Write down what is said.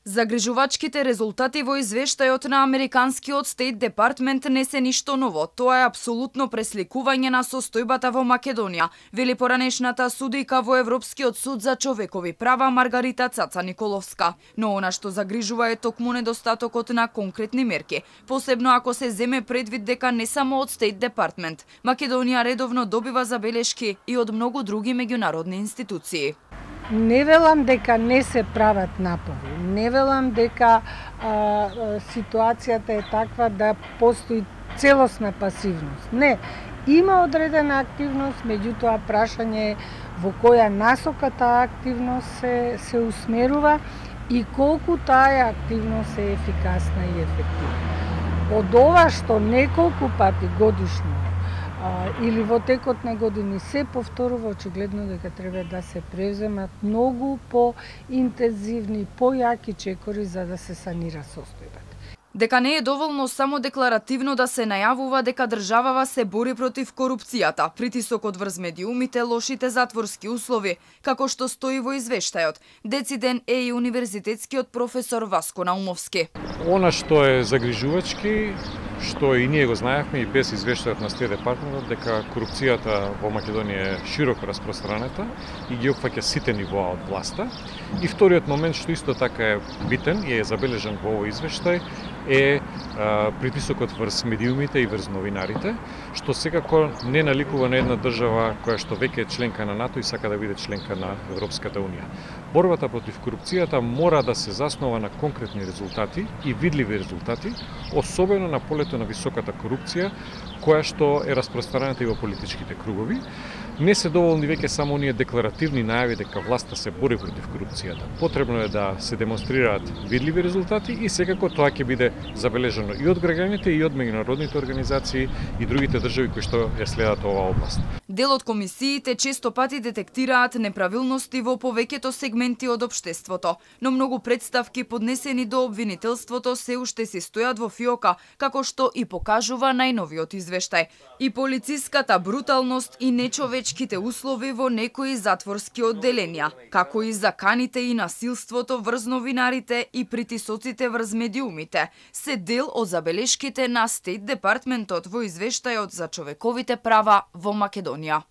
Загрижувачките резултати во извештајот на Американскиот Стейт Департмент не се ништо ново. Тоа е апсолутно пресликување на состојбата во Македонија, вели поранешната судика во Европскиот суд за човекови права Маргарита Цаца Николовска. Но она што загрижува е токму недостатокот на конкретни мерки, посебно ако се земе предвид дека не само од Стейт Департмент, Македонија редовно добива забелешки и од многу други меѓународни институции. Не велам дека не се прават напори, не велам дека ситуацијата е таква да постои целосна пасивност. Не, има одредена активност, меѓутоа прашање е во која насока таа активност се усмерува и колку таа активност е ефикасна и ефективна. Од ова што неколку пати годишно или во текот на години се повторува, очигледно дека треба да се преземат многу поинтензивни, појаки чекори за да се санира состојбата. Дека не е доволно само декларативно да се најавува дека државава се бори против корупцијата, притисокот врз медиумите, лошите затворски услови, како што стои во извештајот. Дециден е и универзитетскиот професор Васко Наумовски. Она што е загрижувачки, што и ние го знаевме и без извештајот на Стейт Департментот, дека корупцијата во Македонија е широко распространета и ги опфаќа сите нивоа од власта. И вториот момент што исто така е битен и е забележан во овој извештај е притисокот врз медиумите и врз новинарите, што секако не наликува на една држава која што веќе е членка на НАТО и сака да биде членка на Европската унија. Борбата против корупцијата мора да се заснова на конкретни резултати и видливи резултати, особено на полето на високата корупција, која што е распространета и во политичките кругови. Не се доволни веќе само оние декларативни најави дека власта се бори против корупцијата. Потребно е да се демонстрираат видливи резултати и секако тоа ќе биде забележано и од граѓаните и од меѓународните организации и другите држави кои што ја следат оваа област. Дел од комисиите често пати детектираат неправилности во повеќето сегменти од општеството, но многу представки поднесени до обвинителството се уште си стојат во фиока, како што и покажува најновиот извештај. И полициската бруталност и нечовечките услови во некои затворски одделенија, како и заканите и насилството врз новинарите и притисоците врз медиумите, се дел од забелешките на Стейт Департментот во извештајот за човековите права во Македонија.